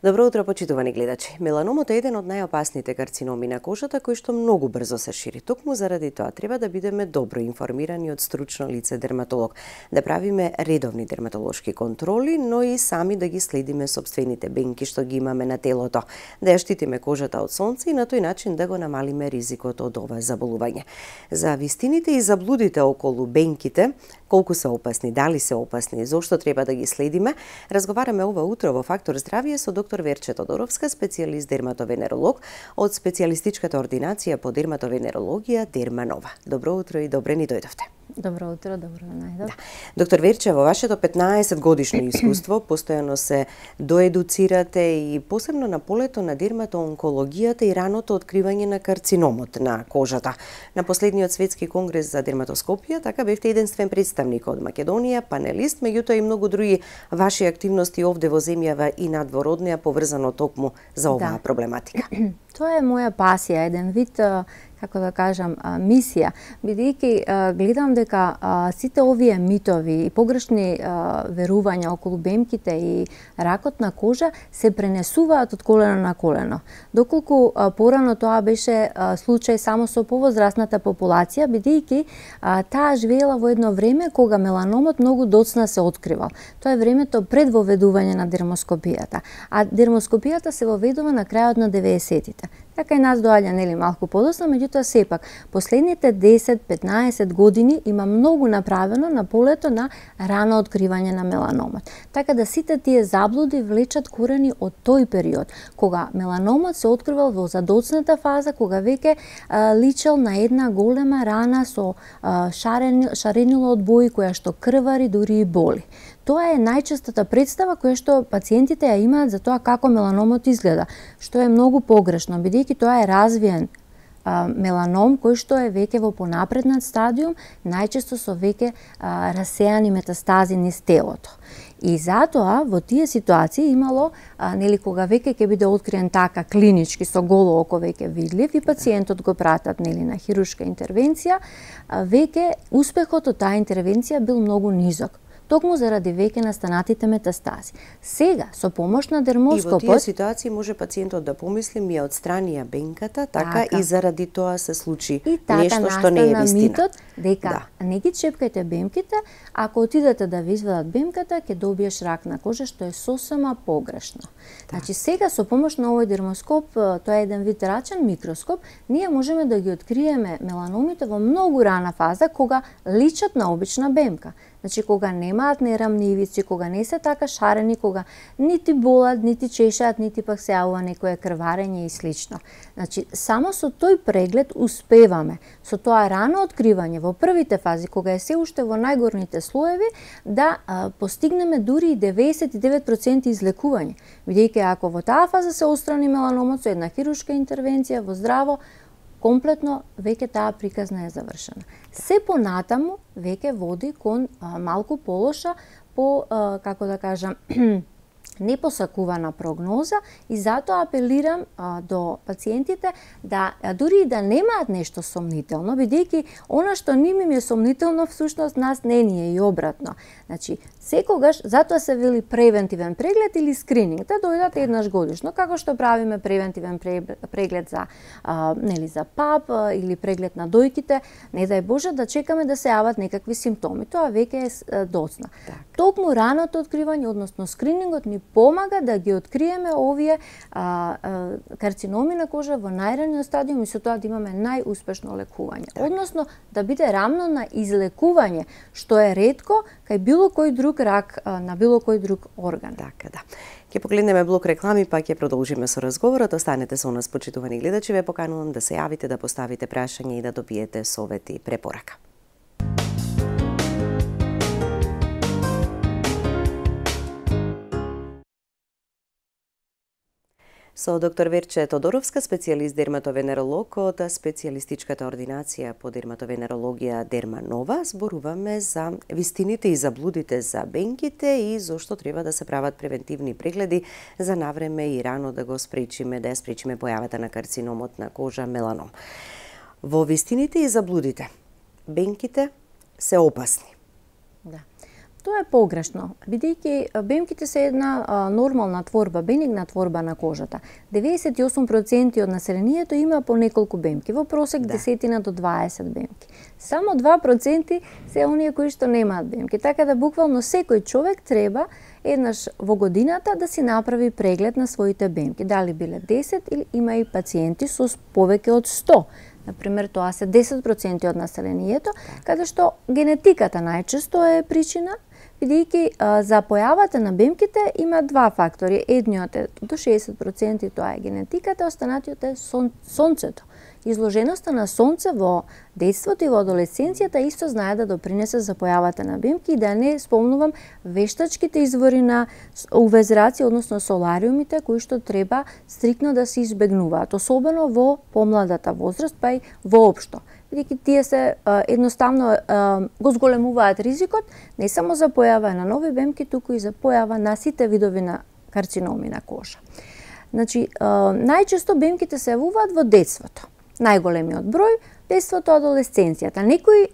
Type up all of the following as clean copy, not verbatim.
Добро утро, почитувани гледачи. Меланомот е еден од најопасните карциноми на кожата кој што многу брзо се шири. Токму заради тоа треба да бидеме добро информирани од стручно лице дерматолог, да правиме редовни дерматолошки контроли, но и сами да ги следиме сопствените бенки што ги имаме на телото, да ја штитиме кожата од сонце и на тој начин да го намалиме ризикот од ова заболување. За вистините и заблудите околу бенките, колку се опасни, дали се опасни, зошто треба да ги следиме, разговараме ова утро во Фактор здравје со доктор Верче Тодоровска, специјалист дерматовенеролог од специјалистичката ординација по дерматовенерологија Дерманова. Добро утро и добре ни дојдовте. Добро утро, добро најдов. Да. Доктор Верче, во вашето 15 годишно искуство постојано се доедуцирате и посебно на полето на дерматоонкологијата и раното откривање на карциномот на кожата. На последниот светски конгрес за дерматоскопија така бевте единствен представник од Македонија, панелист, меѓутоа и многу други ваши активности овде во земјава и надвор од неа поврзано токму за оваа проблематика. Тоа е моја пасија, еден вид, како да кажам, мисија, бидејќи гледам дека сите овие митови и погрешни верувања околу бемките и ракот на кожа се пренесуваат од колено на колено. Доколку порано тоа беше случај само со повозрасната популација, бидејќи таа живеела во едно време кога меланомот многу доцна се откривал. Тоа е времето пред воведување на дермоскопијата, а дермоскопијата се воведува на крајот на 90-тите. Така и нас доаѓа нели малку подоцна, меѓутоа сепак последните 10-15 години има многу направено на полето на рано откривање на меланомот. Така да сите тие заблуди влечат корени од тој период, кога меланомот се откривал во задоцната фаза, кога веќе личел на една голема рана со шаренило од бои која што крвари, дури и боли. Тоа е најчестата представа која што пациентите ја имаат за тоа како меланомот изгледа, што е многу погрешно, бидејќи тоа е развиен меланом кој што е веќе во понапреднат стадиум, најчесто со веќе расеани метастази низ телото. И затоа во тие ситуации имало нели кога веќе ќе биде откриен така клинички со голо око веќе видлив и пациентот го пратат нели на хируршка интервенција, веќе успехот од таа интервенција бил многу низок, токму заради веќе настанатите метастази. Сега, со помош на дермоскопот... И во тие ситуации може пациентот да помисли ми ја отстранија бенката, така и заради тоа се случи нешто што не е вистина. Митот дека не ги чепкајте бемките, ако отидете да ви извадат бемката, ќе добиеш рак на кожа, што е сосема погрешно. Значи сега со помош на овој дермоскоп, тоа е еден вид рачен микроскоп, ние можеме да ги откриеме меланомите во многу рана фаза кога личат на обична бемка. Значи кога немаат нерамни ивици, кога не се така шарени, кога нити болат, нити чешаат, нити пак се јавува некое крварење и слично. Значи само со тој преглед успеваме со тоа рано откривање во првите фази, кога е се уште во најгорните слоеви, да постигнеме дури и 99% излекување. Бидејќи ако во таа фаза се отстрани меланомот со една хируршка интервенција во здраво, комплетно веќе таа приказна е завршена. Се понатаму веќе води кон малку полоша, како да кажам, непосакувана прогноза и затоа апелирам до пациентите да дури и да немаат нешто сомнително, бидејќи она што ними е сомнително всушност нас не ни е и обратно. Значи, секогаш, затоа се вели превентивен преглед или скрининг, да дојдат еднаш годишно, како што правиме превентивен преглед за нели за ПАП или преглед на дојките, не дај Боже да чекаме да се јават некакви симптоми, тоа веќе е доцна. Токму раното откривање, односно скринингот ни помага да ги откриеме овие карциноми на кожа во најраниот стадиум и со тоа да имаме најуспешно лекување. Односно да биде рамно на излекување, што е ретко кај било кој друг рак на било кој друг орган. Така да. Ќе погледнеме блок реклами, па ќе продолжиме со разговорот. Останете со нас, почитувани гледачи, ве поканувам да се јавите, да поставите прашање и да добиете совет и препорака. Со доктор Верче Тодоровска, специјалист дерматовенеролог од специјалистичката ординација по дерматовенерологија Дерманова, зборуваме за вистините и заблудите за бенките и зошто треба да се прават превентивни прегледи за навреме и рано да го спречиме, да ја спречиме појавата на карциномот на кожа меланом. Во вистините и заблудите, бенките се опасни. Да. Тоа е погрешно, бидејќи бемките се една нормална творба, бенигна творба на кожата. 98% од населението има по неколку бемки, во просек 10 до 20 бемки. Само 2% се оние кои што немаат бемки, така да буквално секој човек треба еднаш во годината да си направи преглед на своите бемки. Дали биле 10 или има и пациенти со повеќе од 100. Например, тоа се 10% од населението, каде што генетиката најчесто е причина, бидејќи за појавата на бемките има два фактори. Едниот е до 60% тоа е генетиката, останатиот е сонцето. Изложеноста на сонце во детството и во адолесценцијата исто знае да допринесе за појавата на бемки и да не спомнувам вештачките извори на УВ зраци, односно солариумите, кои што треба стриктно да се избегнуваат, особено во помладата возраст, па и воопшто. Бидејќи тие се едноставно го зголемуваат ризикот не само за појава на нови бемки, туку и за појава на сите видови на карциноми на кожа. Значи, најчесто бемките се јавуваат во детството. Најголемиот број, детството, адолесценцијата. Некои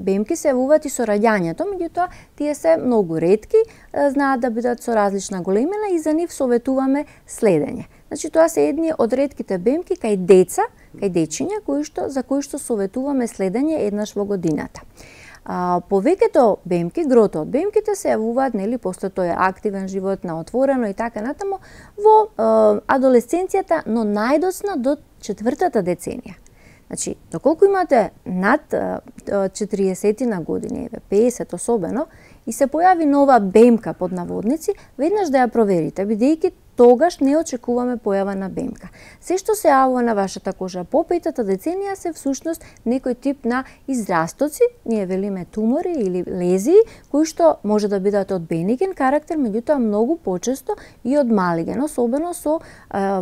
бемки се јавуваат и со раѓањето, меѓутоа тие се многу ретки, знаат да бидат со различна големина и за нив советуваме следење. Значи, тоа се едни од ретките бемки кај деца, кај дечиња, за кои што советуваме следење еднаш во годината. Повеќето бемки, грото од бемките се јавуваат, нели, после тој активен живот на отворено и така натаму, во адолесценцијата, но најдоцна до 4-та деценија. Значи, доколку имате над 40 на години, 50 особено, и се појави нова бемка под наводници, веднаш да ја проверите, бидејќи тогаш не очекуваме појава на бемка. Се што се јавува на вашата кожа по 5-та деценија се всушност некој тип на израстоци, ние велиме тумори или лезии, кои што може да бидат од бениген карактер, меѓутоа многу почесто и од малиген, особено со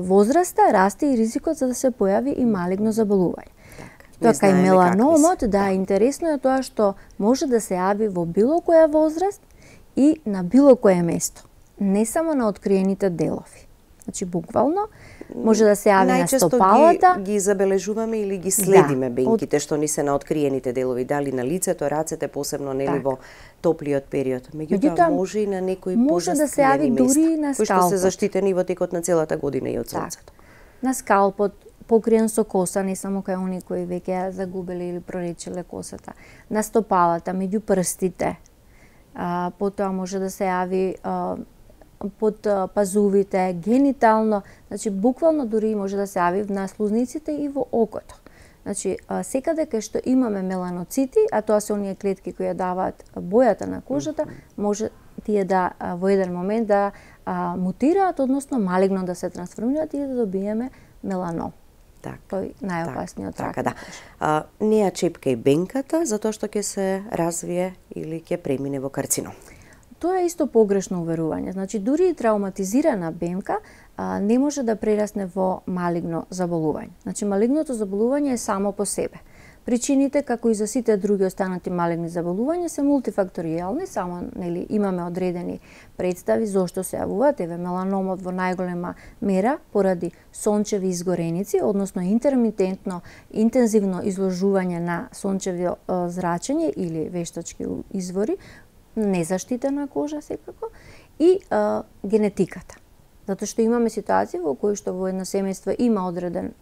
возраста расте и ризикот за да се појави и малигно заболување. Тоа кај меланомот, интересно е тоа што може да се јави во било која возраст и на било кое место, не само на откриените делови. Значи, буквално, може да се јави на стопалата. Најчесто ги забележуваме или ги следиме бенките што ни се на откриените делови, дали на лицето, рацете, посебно нели во топлиот период. Меѓутоа може и на некои позаскриени места, кои што се заштитени во текот на целата година и од сонцето. На скалпот, покриен со коса, не само кај оние кои веќе ја загубиле или проречиле косата. На стопалата, меѓу прстите. Потоа може да се јави под пазувите, генитално, значи буквално дури може да се јави на слузниците и во окото. Значи, секаде кај што имаме меланоцити, а тоа се оние клетки кои ја даваат бојата на кожата, може тие да во еден момент да мутираат, односно малигно да се трансформираат и да добиеме меланом. Тој најопасниот рак. Не ја чепка и бенката, затоа што ќе се развие или ќе премине во карцином. Тоа е исто погрешно уверување. Значи, дури и травматизирана бемка не може да прерасне во малигно заболување. Значи, малигното заболување е само по себе. Причините, како и за сите други останати малигни заболувања, се мултифакторијални, само нели имаме одредени представи зошто се јавуваат. Еве, меланомот во најголема мера поради сончеви изгореници, односно интермитентно, интензивно изложување на сончево зрачење или вештачки извори, незаштитена кожа секако, и генетиката. Затоа што имаме ситуации во кои што во едно семејство има одреден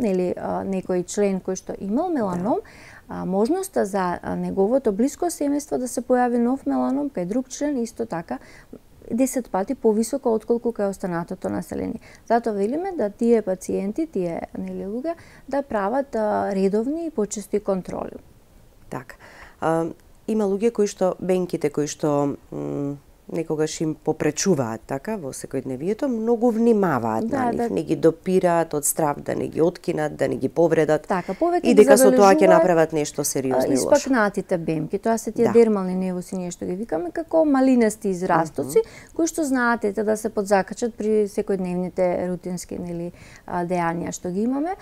некој член кој што имал меланом, можноста за неговото блиско семејство да се појави нов меланом кај друг член исто така 10 пати повисоко отколку кај останатото население. Затоа велиме да тие пациенти, тие луѓе да прават редовни и почести контроли. Така. Има луѓе кои што бенките кои што некогаш им попречуваат така во секојдневието, многу внимаваат на нив, не ги допираат од страв да не ги откинат, да не ги повредат. Така, повеќе и дека со тоа ќе направат нешто сериозно и лошо. Испакнатите бемки, тоа се тие дермални невуси, ние што ги викаме како малинести израстоци, кои што знаат да се подзакачат при секојдневните рутински дејанија што ги имаме.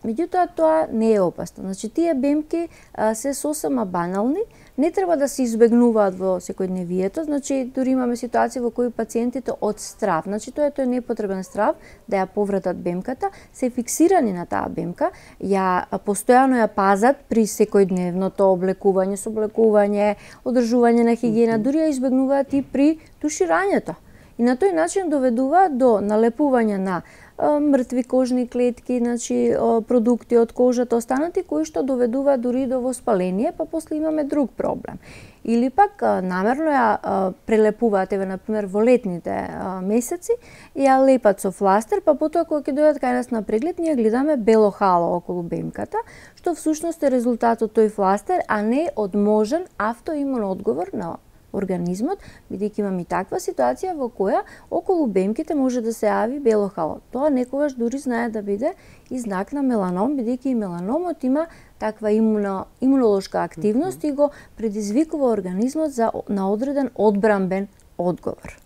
Меѓутоа тоа не е опасно. Значи тие бемки се сосема банални, не треба да се избегнуваат во секојдневието, значи дури имаме ситуации во кои пациентите од страв, значи тоа е непотребен страв да ја повратат бемката, се фиксирани на таа бемка, постојано ја пазат при секојдневното облекување, сооблекување, одржување на хигиена, дури ја избегнуваат и при туширањето. И на тој начин доведува до налепување на мртви кожни клетки, значи продукти од кожата останати кои што доведува дури до воспаление, па после имаме друг проблем. Или пак намерно ја прелепуваат, еве например во летните месеци, ја лепат со фластер, па потоа кога ќе дојдат кај нас на преглед, ние гледаме бело хало околу бемката, што всушност е резултат од тој фластер, а не од можен автоимун одговор на организмот, бидејќи имаме и таква ситуација во која околу бемките може да се јави бело хало. Тоа некогаш дури знае да биде и знак на меланом, бидејќи и меланомот има таква имунолошка активност и го предизвикува организмот на одреден одбранбен одговор.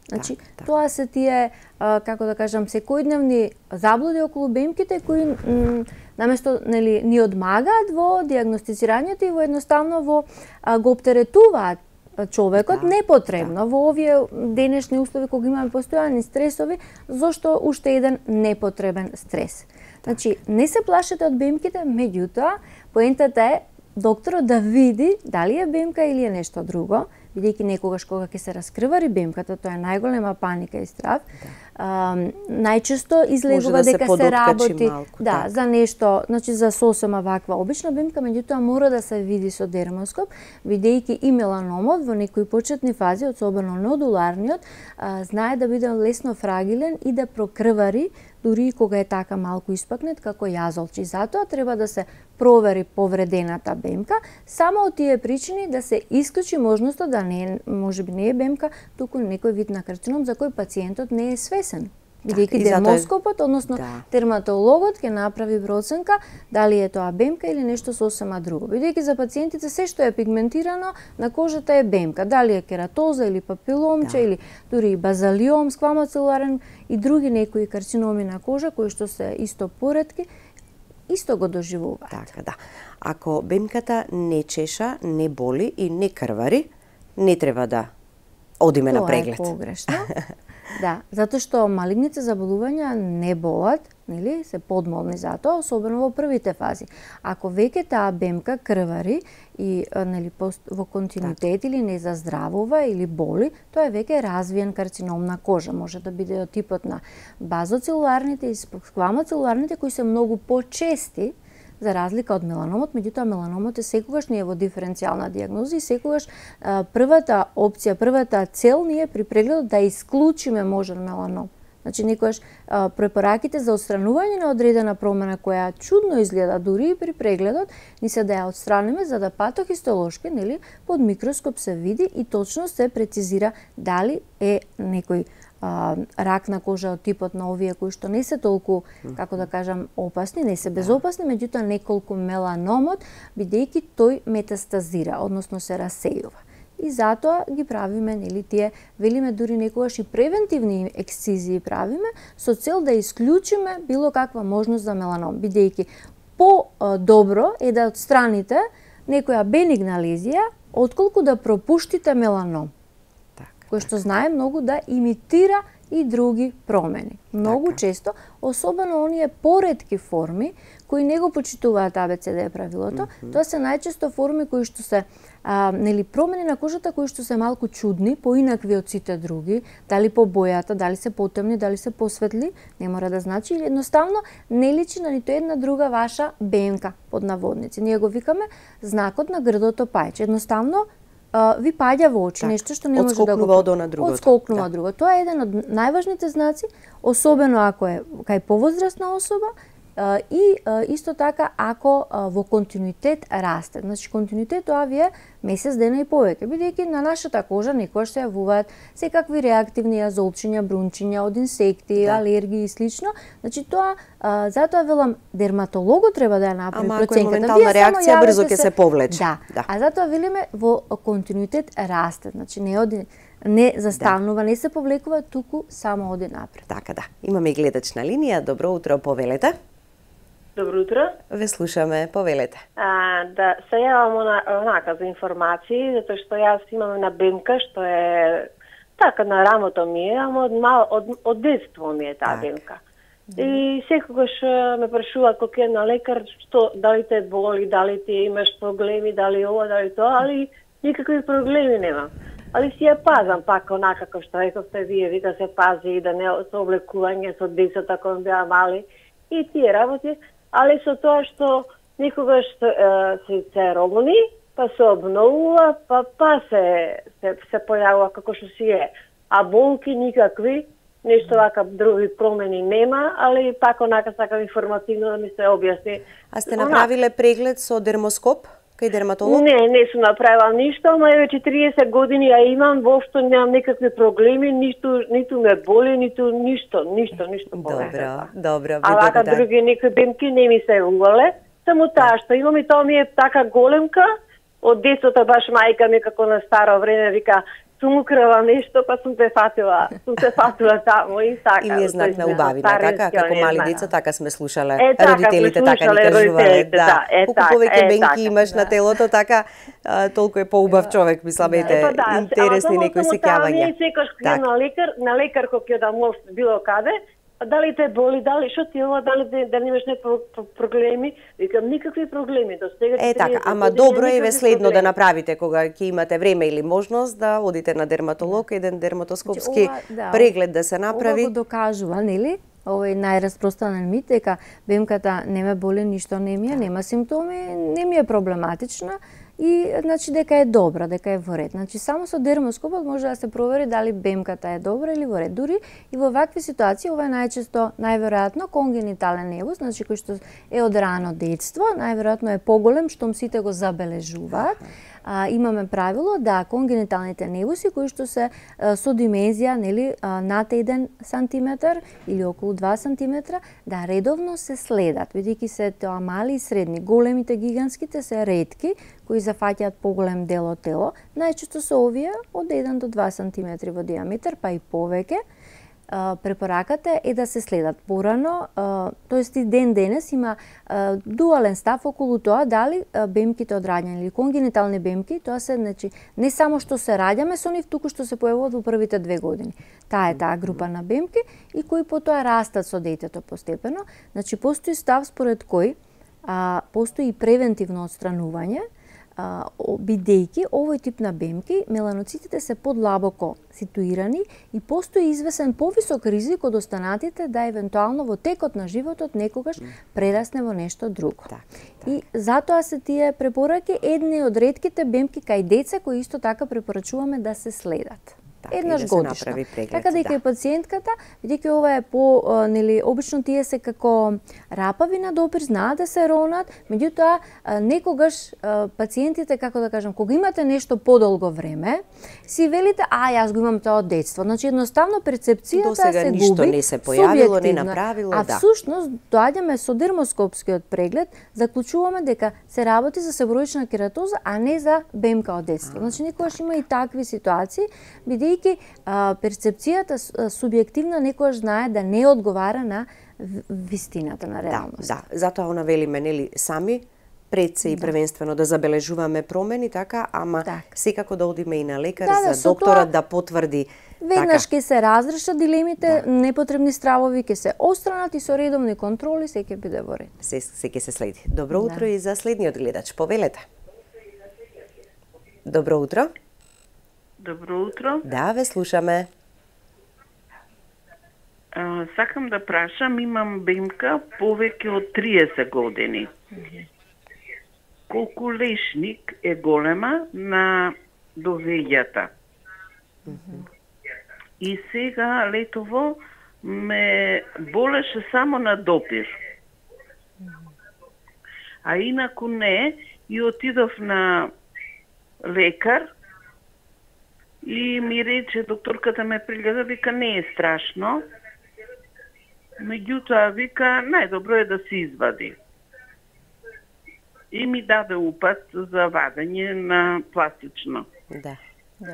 Значи, тоа се тие, како да кажам, секојдневни заблуди околу бемките кои наместо ни одмагаат во дијагностицирањето и во едноставно го оптеретуваат човекот непотребно во овие денешни услови кога имаме постојани стресови, зошто уште еден непотребен стрес. Значи, не се плашете од бемките, меѓутоа, поентата е докторот да види дали е бемка или е нешто друго, бидејќи некогаш кога ќе се раскривари бемката, тоа е најголема паника и страв. Најчесто излегува дека се работи малку, за нешто, значи за сосема ваква обична бемка, меѓутоа мора да се види со дермоскоп, бидејќи и меланомот во некои почетни фази, особено нодуларниот, знае да биде лесно фрагилен и да прокрвари дури и кога е така малку испакнет како јазолчи. Затоа треба да се провери повредената бемка, само од тие причини да се исклучи можноста да можеби не е бемка, туку некој вид на карцином за кој пациентот не е свесен. Бидејќи дермоскопот, односно дерматологот ќе направи проценка дали е тоа бемка или нешто сосема друго. Бидејќи за пациентите се што е пигментирано на кожата е бемка, дали е кератоза или папиломче или дури и базалиом, сквамоцелуларен и други некои карциноми на кожа кои што се исто поретки, исто го доживуваат. Така, да. Ако бемката не чеша, не боли и не крвари, не треба да одиме на преглед. Тоа е погрешно. Да, затоа што малигните заболувања не болат, нели, се подмолни за тоа, особено во првите фази. Ако веќе таа бемка крвари и нели во континуитет или не заздравува или боли, тоа е веќе развиен карцином на кожа. Може да биде од типот на базоцелуларните и сквамоцелуларните кои се многу почести за разлика од меланомот, меѓутоа меланомот е секогаш не е во диференцијална дијагноза и секогаш првата опција, првата цел ние при прегледот да исклучиме можен меланом. Значи некогаш препораките за отстранување на одредена промена која чудно изгледа дури и при прегледот ни се да ја отстраниме за да патохистолошки, нели, под микроскоп се види и точно се прецизира дали е некој рак на кожа од типот на овие кои што не се толку, како да кажам, опасни, не се безопасни, меѓутоа неколку меланомот, бидејќи тој метастазира, односно се расејува. И затоа ги правиме, нели, тие, велиме дури некогаш и превентивни ексцизии правиме, со цел да исклучиме било каква можност за меланом, бидејќи по-добро е да отстраните некоја бенигна лезија, отколку да пропуштите меланом, кој што знае многу да имитира и други промени. Многу често, особено оние поретки форми кои не го почитуваат ABCD правилото, тоа се најчесто форми кои што се нели промени на кожата кои што се малку чудни, поинакви од сите други, дали по бојата, дали се потемни, дали се посветли, не мора да значи, или едноставно не личи на ниту една друга ваша бемка под наводници. Ние го викаме знакот на грдото пајче. Едноставно ви паѓа во очи, нешто што не може да го одскокнува друго. Тоа е еден од најважните знаци, особено ако е кај повозрасна особа и исто така ако во континуитет расте. Значи континуитет тоа ви е месец дена и повеќе, бидејќи на нашата кожа некогаш се јавуваат секакви реактивни јазолчиња, брунчиња од инсекти, алергии и слично. Значи тоа затоа велам дерматологот треба да ја направи проценката. Ако е моментална реакција, брзо ќе се повлече. Да. А затоа велиме во континуитет расте, значи не застанува, не се повлекува, туку само оди напред. Така да. Имаме и гледач на линија. Добро утро, повелете. Добро утро. Ве слушаме, повелете. Да се јавам онака за информации, затоа што јас имам на бемка, што е така на рамото ми е, ама од детство ми е таа бемка. И секогаш ме прашуваат кога е на лекар, што дали те боли, дали ти имаш проблеми, дали ова, дали тоа, али никакви проблеми немам. Али си ја пазам пак онака како што рековте вие, вика се пази и да не со облекување со децата кога беа мали и тие работи, али со тоа што никогаш се ромни, па се обновува, па се појавува како што си е. А болки никакви, нешто вака други промени нема, али пак онака сакам информативно да ми се објасни. А сте направиле преглед со дермоскоп кај дерматолог? Не сум направила ништо, ама веќе 30 години ја имам, воопшто немам никакви проблеми, ниту ме боли, ниту ништо. Добро, а вака други некои бемки не ми се увале, само таа што имам и тоа ми е така големка, од детството баш мајка ми како на старо време вика сум украла нешто, па сум се фатила таму и така. Или е знак на убавина, така? Како мали деца, така сме слушале. Родителите така ни кажувале. Да. Колку повеќе бенки имаш на телото, така, толку е поубав човек, мисламете, интересни некои сеќавања. Секој на лекар кој ќе да може било каде, дали те боли, дали што ти ова, дали имаш проблеми, викам никакви проблеми до сега. Така, ама добро е ве следно да направите кога ќе имате време или можност да одите на дерматолог, еден дерматоскопски преглед да се направи. Ова го докажува, нели? Ова е најраспространен мит дека бемката не ме боли, ништо не ми е, нема симптоми, не ми е проблематична и значи дека е добра, дека е во ред. Значи само со дермоскопот може да се провери дали бемката е добра или во ред. Дури и во вакви ситуации ова е најчесто најверојатно конгенитален невус, значи кој што е од рано детство, најверојатно е поголем штом сите го забележуваат. Имаме правило да конгениталните невуси кои што се со димензија, нели, над 1 сантиметар или околу 2 сантиметра, да редовно се следат, бидејќи се тоа мали и средни. Големите гигантските се ретки, кои зафаќаат поголем дел од тело. Најчесто се овие од 1 до 2 сантиметри во диаметар, па и повеќе. Препораката е да се следат порано, тоест и ден денес има дуален став околу тоа дали бемките од раѓање или конгенитални бемки, тоа се, значи, не само што се раѓаме со нив, туку што се појавуваат во првите 2 години. Таа е таа група на бемки и кои потоа растат со детето постепено. Значи, постои став според кој постои превентивно отстранување, бидејќи овој тип на бемки меланоцитите се подлабоко ситуирани и постои извесен повисок ризик од останатите да евентуално во текот на животот некогаш прерасне во нешто друго. И затоа се тие препораки едни од ретките бемки кај деца кои исто така препорачуваме да се следат. Еднаш годишно. Така дека и пациентката, бидејќи ова е нели, обично тие се како рапави на допир, знаат да се ронат, меѓутоа некогаш пациентите, како да кажам, кога имате нешто подолго време, си велите, јас го имам тоа од детство. Значи едноставно перцепцијата се губи. Ништо не се појавило, не направило, а всушност доаѓаме со дермоскопскиот преглед, заклучуваме дека се работи за себороична кератоза, а не за бемка од детство. Значи некогаш има и такви ситуации, бидејќи перцепцијата субјективна некојаш знае да не одговара на вистината на реалност. Да, затоа она велиме, нели, сами пред се и првенствено да забележуваме промени, така, ама секако да одиме и на лекар за докторот да потврди. Веднаш ќе се разрешат дилемите, непотребни стравови ќе се отстранат и со редовни контроли се ќе биде во ред. Се ќе се следи. Добро утро и за следниот гледач. Повелете. Добро утро. Добро утро. Да, ве слушаме. Сакам да прашам, имам бемка повеќе од 30 години. Колку лешник е голема на довеѓата? И сега летово ме болеше само на допир. А инаку не, и отидов на лекар, и ми рече, докторката ме пригледа, вика, не е страшно. Меѓутоа, вика, најдобро е да се извади. И ми даде упат за вадење на пластично. Да.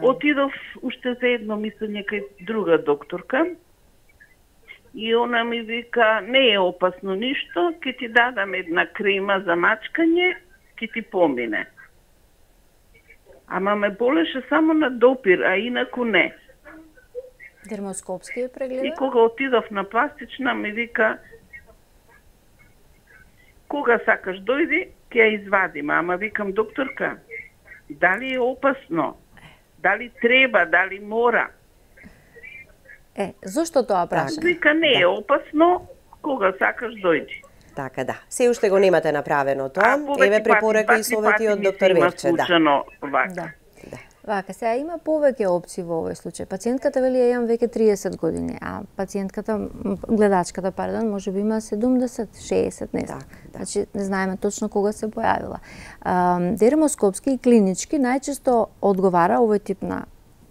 Отидов уште за едно мислење кај друга докторка и она ми вика, не е опасно ништо, ќе ти дадам една крема за мачкање, ќе ти помине. Ама ме болеше само на допир, а инаку не. Дермоскопски е прегледа? И кога отидов на пластична, ми вика, кога сакаш дојди, ќе ја извадим. Ама викам, докторка, дали е опасно? Дали треба, дали мора? Зошто тоа прашање? Вика, не е опасно, кога сакаш дојди. Така да. Се уште го немате направено тоа. Еве препорака и совети од доктор Верче, да. Да. Вака, сега има повеќе опции во овој случај. Пациентката вели ја имам веќе 30 години, а пациентката, гледачката, пардон, можеби има 70, 60, не знам. Значи, не знаеме точно кога се појавила. Дермоскопски и клинички најчесто одговара овој тип на,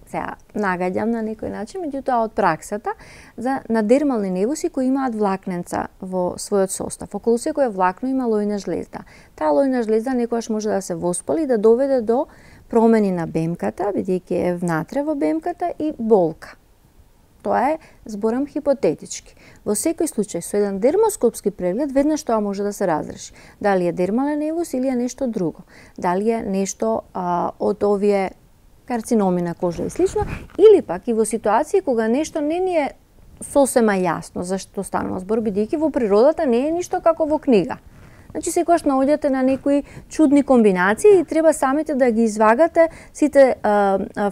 сега нагаѓам на некој начин, меѓутоа од праксата, на дермални невуси кои имаат влакненца во својот состав. Околу секој влакно има лојна жлезда. Таа лојна жлезда некогаш може да се воспали и да доведе до промени на бемката, бидејќи е внатре во бемката, и болка. Тоа е, зборам хипотетички. Во секој случај, со еден дермоскопски преглед, веднаш тоа може да се разреши. Дали е дермален невус или е нешто друго. Дали е нешто од овие карциноми на кожа и слично, или пак и во ситуации кога нешто не ни е сосема јасно зашто станува збор, бидејќи во природата не е ништо како во книга. Значи, секогаш наоѓате на некои чудни комбинации и треба самите да ги извагате сите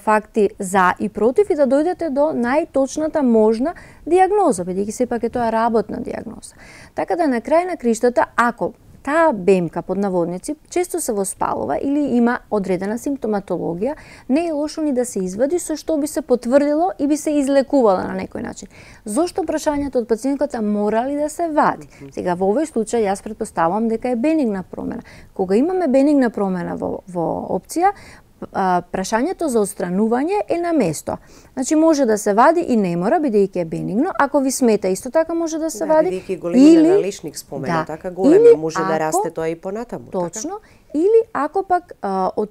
факти за и против и да дојдете до најточната можна дијагноза, бидејќи сепак е тоа работна дијагноза. Така да на крај на криштата, ако таа бемка под наводници често се воспалува или има одредена симптоматологија, не е лошо ни да се извади, со што би се потврдило и би се излекувала на некој начин. Зошто прашањето од пациентката мора ли да се вади? Сега во овој случај јас претпоставувам дека е бенигна промена. Кога имаме бенигна промена во опција, прашањето за отстранување е на место. Значи може да се вади и не мора, бидејќи е бенигно. Ако ви смета, исто така може да се вади. Бидејќи големина на лишник спомена, така голема може да расте тоа и понатаму. Точно. Или ако пак од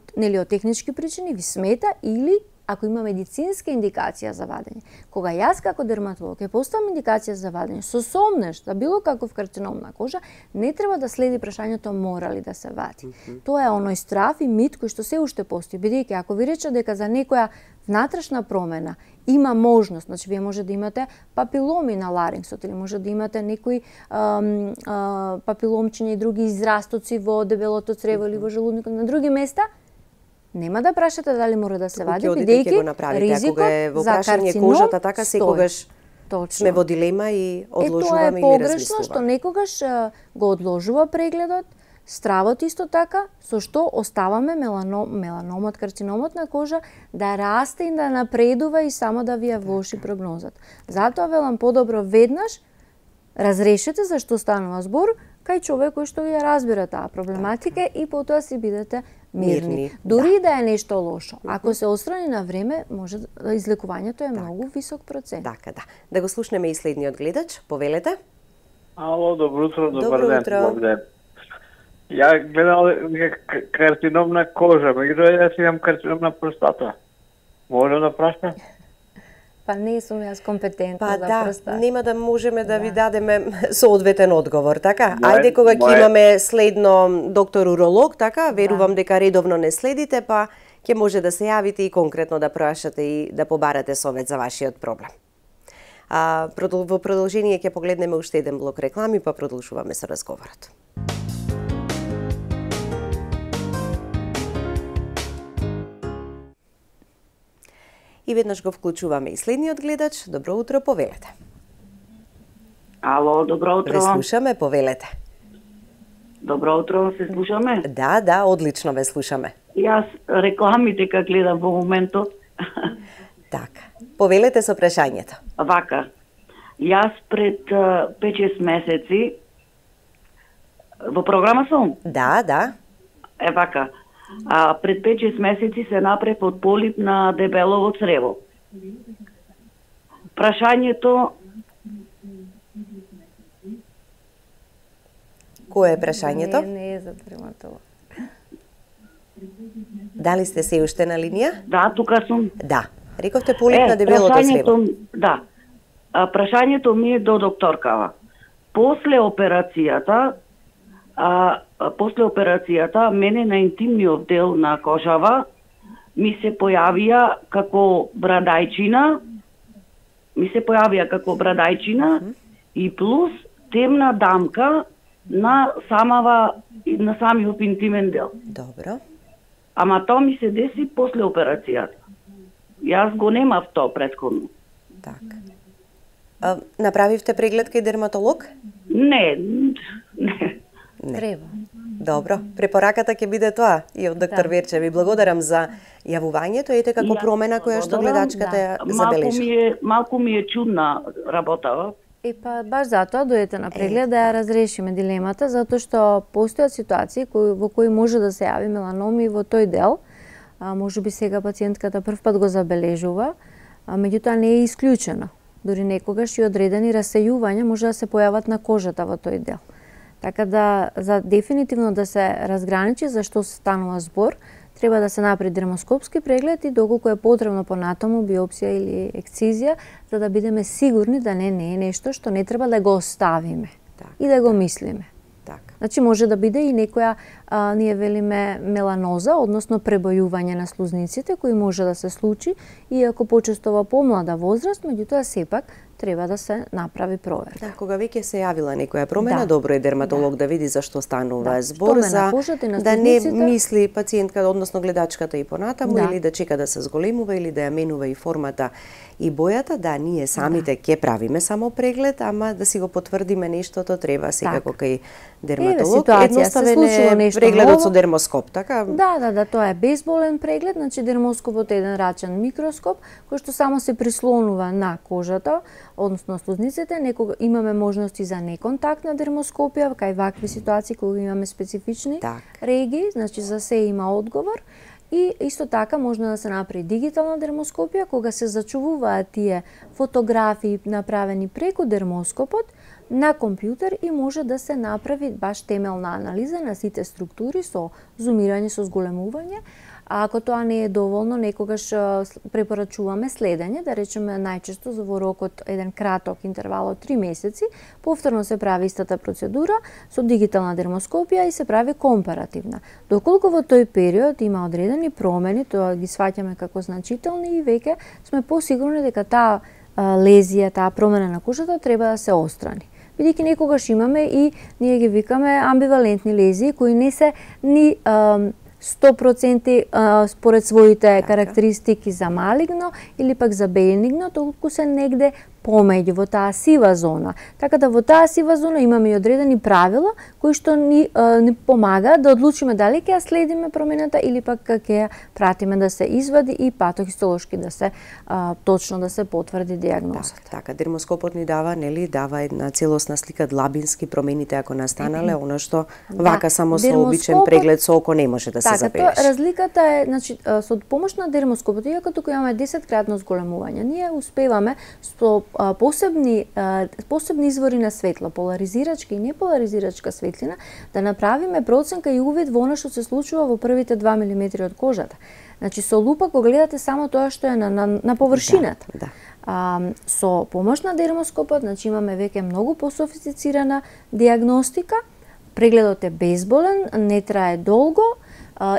технички причини ви смета, или ако има медицинска индикација за вадење. Кога јас како дерматолог ќе поставам индикација за вадење со сомнеш за било каков карцином на кожа, не треба да следи прашањето мора ли да се вади. Тоа е оној страв и мит кој што се уште постои, бидејќи ако ви рече дека за некоја внатрешна промена има можност, значи вие може да имате папиломи на ларингсот или може да имате некои папиломчиња и други израстоци во дебелото црево или во желудникот на други места, нема да прашате дали мора да се вади, бидејќи ризикот за карцином кожата така секогаш сме во дилема и одложуваме или размислуваме. Тоа е погрешно што некогаш го одложува прегледот, стравот исто така, со што оставаме меланомот, карциномот на кожа да расте и да напредува и само да ви ја влоши прогнозата. Затоа велам подобро веднаш разрешете за што станува збор кај човек кој што ја разбира таа проблематика и потоа си бидете мирни. Дури да е нешто лошо, ако се отстрани на време, може излекувањето е многу висок процент. Така, да. Да го слушнеме и следниот гледач. Повелете. Ало, добро утро, добар ден. Ја гледал карцином на кожа, меѓутоа јас имам карцином на простата. Може да прашам? Па не сум јас компетентна за простата. Нема да можеме да ви дадеме соодветен одговор, така? Ајде кога ќе имаме следно доктор уролог, така? Верувам дека редовно не следите, па ќе може да се јавите и конкретно да прашате и да побарате совет за вашиот проблем. Во продолжение ќе погледнеме уште еден блок реклами, па продолжуваме со разговорот. И веднаш го вклучуваме и следниот гледач. Добро утро, повелете. Ало, добро утро. Ве слушаме, повелете. Добро утро, се слушаме? Да, одлично ве слушаме. Јас рекламите как гледам во моментот. Така, повелете со прашањето. Вака, јас пред 5-6 месеци во програма сум? Да. Вака, пред 5-6 месеци се направи од полип на дебелово црево. Прашањето... Кое е прашањето? Не е за дерматолог. Дали сте се уште на линија? Да, тука сум. Да. Рековте полип на дебелото црево. Да. прашањето ми е до докторкава. После операцијата, мене на интимниот дел на кожава ми се појавија како брадајчина, и плюс темна дамка на самиот интимен дел. Добро. Ама тоа ми се деси после операцијата. Јас го немав тоа претходно. Така. Направивте преглед кај дерматолог? Не. Треба. Добро, препораката ќе биде тоа и од доктор Верче. Ви благодарам за јавувањето, ете како промена која што гледачката ја забележи. Малку ми е чудна работава. Па баш затоа дојдете на преглед да ја разрешиме дилемата, затоа што постојат ситуации во кои може да се јави меланоми во тој дел. Можеби сега пациентката првпат го забележува, меѓутоа не е исклучено. Дори некогаш и одредени расејувања може да се појават на кожата во тој дел. Така да, за дефинитивно да се разграничи за што станува збор, треба да се направи дермоскопски преглед и доколку е потребно понатаму биопсија или ексцизија, за да бидеме сигурни да не е нешто што не треба да го оставиме и да го мислиме. Значи може да биде и некоја, ние велиме меланоза, односно пребојување на слузниците, кои може да се случи, иако почесто во помлада возраст, меѓутоа сепак треба да се направи проверка. Да, кога веќе се јавила некоја промена, добро е дерматолог да види за што станува збор, за да не мисли пациентка, односно гледачката и понатаму, или да чека да се зголемува, или да ја менува и формата и бојата. Да, ние самите ќе правиме само преглед, ама да си го потврдиме нештото, треба секако кај дерматолог. Едноставен е прегледот со дермоскоп, така? Да, тоа е безболен преглед, значи дермоскопот е еден рачен микроскоп кој што само се прислонува на кожата, односно слузниците. Некога имаме можности за неконтактна дермоскопија, кај вакви ситуации кога имаме специфични регии, значи за се има одговор. И исто така можно да се направи дигитална дермоскопија, кога се зачувуваат тие фотографии направени преку дермоскопот на компјутер и може да се направи баш темелна анализа на сите структури со зумирање, со зголемување. А ако тоа не е доволно, некогаш препорачуваме следење, да речеме најчесто во рокот еден краток интервал од 3 месеци, повторно се прави истата процедура со дигитална дермоскопија и се прави компаративна. Доколку во тој период има одредени промени, тоа ги сваќаме како значителни и веќе сме посигурни дека таа лезија, таа промена на кожата треба да се отстрани. Бидејќи некогаш имаме и ние ги викаме амбивалентни лезии кои не се ни 100% според своите карактеристики за малигно или пак за бенигно, толку се негде помеѓу во таа сива зона. Така да во таа сива зона имаме и одредени правила кои што ни помагаат да одлучиме дали ќе ја следиме промената или пак ќе ја пратиме да се извади и патохистолошки да се точно да се потврди дијагнозата. Така, дермоскопот ни дава една целосна слика длабински промените ако настанале, она што вака само со обичен преглед со око не може да се забележи. Така, разликата е, значи, со помош на дермоскопот, иако тука имаме 10-кратно зголемување, ние успеваме со посебни извори на светло, поларизирачка и неполаризирачка светлина, да направиме проценка и увид во она што се случува во првите 2 мм од кожата. Значи, со лупа го гледате само тоа што е на површината. Со помош на дермоскопот, значи имаме веќе многу пософистицирана дијагностика, прегледот е безболен, не трае долго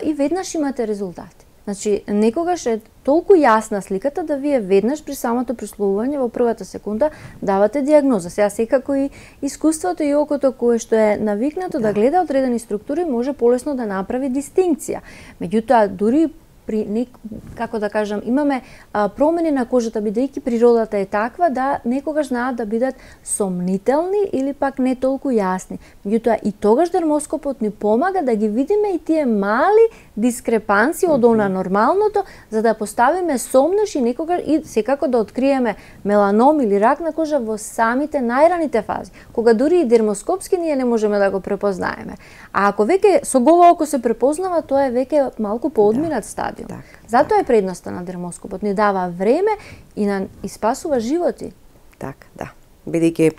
и веднаш имате резултати. Значи, некогаш е толку јасна сликата да вие веднаш при самото присловување во првата секунда давате дијагноза. Сега секако и искуството и окото кое што е навикнато да гледа одредени структури може полесно да направи дистинкција. Меѓутоа, дури при како да кажам, имаме промени на кожата, бидејќи природата е таква да некогаш знаат да бидат сомнителни или пак не толку јасни. Меѓутоа и тогаш дермоскопот ни помага да ги видиме и тие мали дискрепанции од она нормалното, за да поставиме сомнеш и некогаш и секако да откриеме меланом или рак на кожа во самите најраните фази, кога дури и дермоскопски ние не можеме да го препознаеме. А ако веќе со голо око се препознава, тоа е веќе малку поодминат стадиум. Затоа е предноста на дермоскопот, ни дава време и спасува животи. Така, да. Бидејќи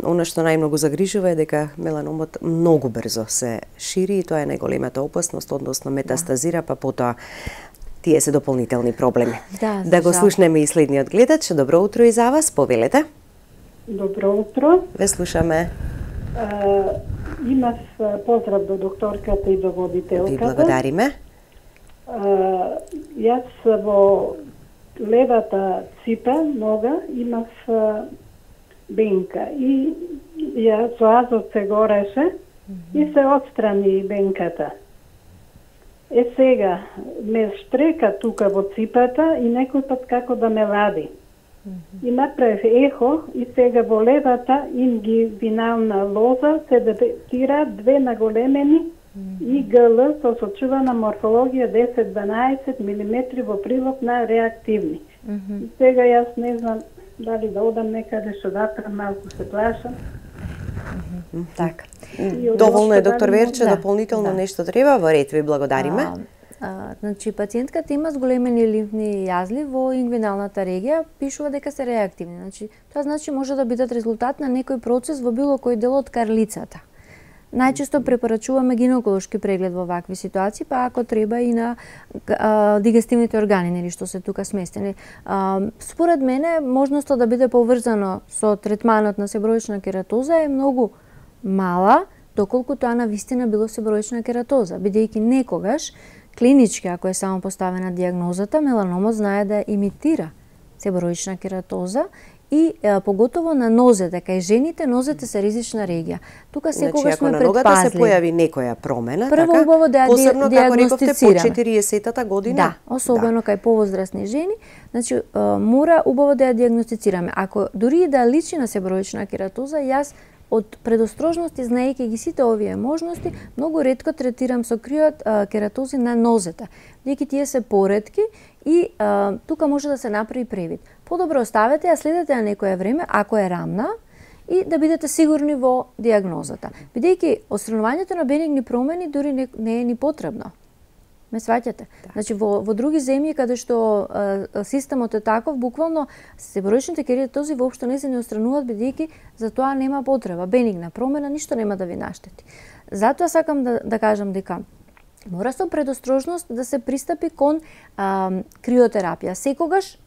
она што најмногу загрижува е дека меланомот многу брзо се шири и тоа е најголемата опасност, односно метастазира, па потоа тие се дополнителни проблеми. Да го слушнеме и следниот гледач. Добро утро и за вас, повелете. Добро утро. Ве слушаме. Имав поздрав до докторката и до водителката. Ви благодариме. Јас во левата ципа, нога, имав бенка и ја со азот се гореше и се отстрани бенката. Сега ме штрека тука во ципата и некој пат како да ме лади. И направив ехо и сега во левата ингивинална лоза се детектира 2 наголемени ИГЛ со сочувана морфологија 10-12 мм во прилог на реактивни. И сега јас не знам дали да одам некаде што датрам, малку се плашам. Така. Доволно е, доктор Верче, дополнително нешто треба, во ред, ви благодариме. Значи, пациентката има зголемени лимфни јазли во ингвиналната регија, пишува дека се реактивни. Значи, тоа значи може да бидат резултат на некој процес во било кој дел од карлицата. Најчесто препорачуваме гинеколошки преглед во вакви ситуации, па ако треба и на дигестивните органи, нели што се тука сместени. Според мене, можноста да биде поврзано со третманот на себроична кератоза е многу мала, доколку тоа на вистина било себроична кератоза, бидејќи некогаш клинички, ако е само поставена диагнозата, меланомот знае да имитира себроична кератоза и поготово на нозете, кај жените нозете се ризична регија. Тука секогаш сме предпазливи. Ако на ногата се појави некоја промена, прво убаво да посебно како рековте по диагностицираме. 40-та година. Да, особено кај повозрасни жени, значи мора убаво да ја диагностицираме. Ако дури и да личи на себроична кератоза, јас од предострожност, знаејќи ги сите овие можности, многу ретко третирам со криот кератози на нозете, бидејќи тие се поретки и тука може да се направи превид. Подобро оставете ја, следете ја некое време, ако е рамна, и да бидете сигурни во диагнозата. Бидејќи отстранувањето на бенигни промени дури не е ни потребно. Ме сваќате? Значи, во други земји, каде што системот е таков, буквално себроичните кератози воопшто не се не отстрануваат, бидејќи за тоа нема потреба. Бенигна промена ништо нема да ви наштети. Затоа сакам да кажам дека мора со предострожност да се пристапи кон криотерапија. Секогаш,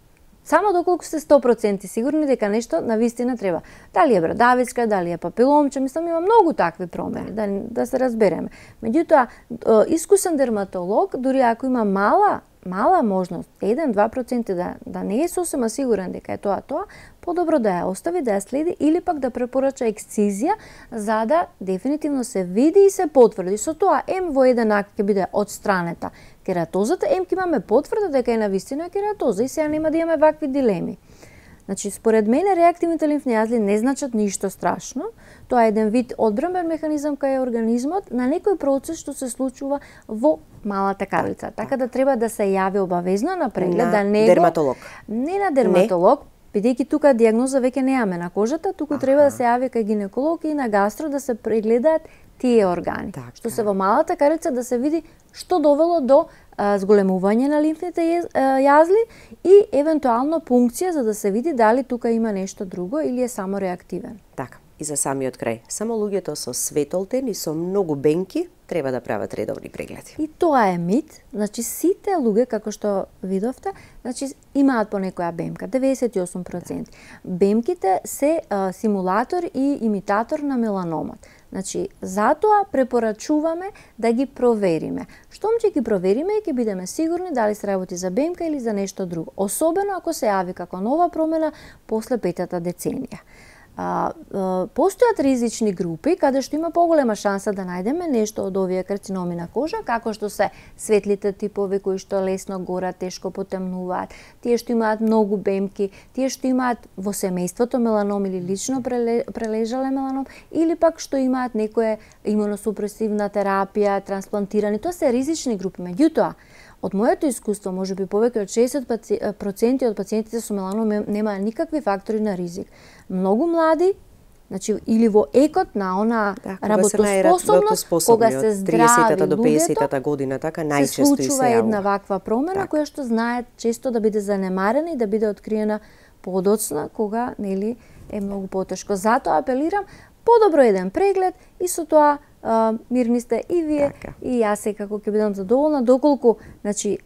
само доколку сте 100% сигурни дека нешто навистина треба. Дали е брадавичка, дали е папиломче, мислам има многу такви промени, да се разбереме. Меѓутоа, искусен дерматолог, дури ако има мала можност, 1-2% да не е сосема сигурен дека е тоа, подобро да ја остави, да ја следи или пак да препорача ексцизија, за да дефинитивно се види и се потврди. Со тоа, во еден акт ќе биде одстранета кератозата, ќе имаме потврда дека е навистина кератоза и сега нема да имаме вакви дилеми. Значи, според мене, реактивните лимфни јазли не значат ништо страшно. Тоа е еден вид одбранбен механизам кај организмот на некој процес што се случува во малата карлица. Така да треба да се јави обавезно на преглед, на дерматолог. Не на дерматолог, бидејќи тука диагноза веќе немаме на кожата, туку треба да се јави кај гинеколог и на гастро да се прегледаат тие органи. Што се во малата карлица да се види што довело до зголемување на лимфните јазли и евентуално пункција за да се види дали тука има нешто друго или е само реактивен. Така, и за самиот крај, само луѓето со светолтен и со многу бенки треба да прават редовни прегледи. И тоа е мит, значи сите луѓе, како што видовте, значи имаат по некоја бемка, 98%. Бемките се симулатор и имитатор на меланомот. Значи, затоа препорачуваме да ги провериме. Штом ќе ги провериме, ќе бидеме сигурни дали се работи за бемка или за нешто друго. Особено ако се јави како нова промена после 5-та деценија. Постојат ризични групи каде што има поголема шанса да најдеме нешто од овие карциноми на кожа, како што се светлите типови кои што лесно горат, тешко потемнуваат, тие што имаат многу бемки, тие што имаат во семејството меланом или лично прележале меланом, или пак што имаат некоја имуносупресивна терапија, трансплантирани, тоа се ризични групи. Меѓутоа, од моето искуство, можеби повеќе од 60% од пациентите со меланом нема никакви фактори на ризик. Многу млади, значи или во екот на она работоспособност, кога се здрави до 50-та година, така најчесто се случува една ваква промена која што знаат често да биде занемарена и да биде откриена подоцна, кога нели е многу потешко. Затоа апелирам подобро еден преглед и со тоа мирни сте и вие, Така. и јас секако ќе бидам задоволна, доколку значи,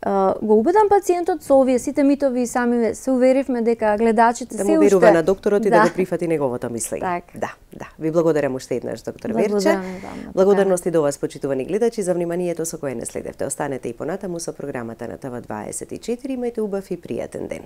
го убедам пациентот со овие сите митови и сами се уверивме дека гледачите Да се му уште... верува на докторот и да го прифати неговото мислење. Така. Да. Ви благодарам уште еднаш, доктор Верче. Благодарам и вама. Благодарности до вас, почитувани гледачи, за вниманието со кое не следевте. Останете и понатаму со програмата на ТВ24. Имајте убав и пријатен ден.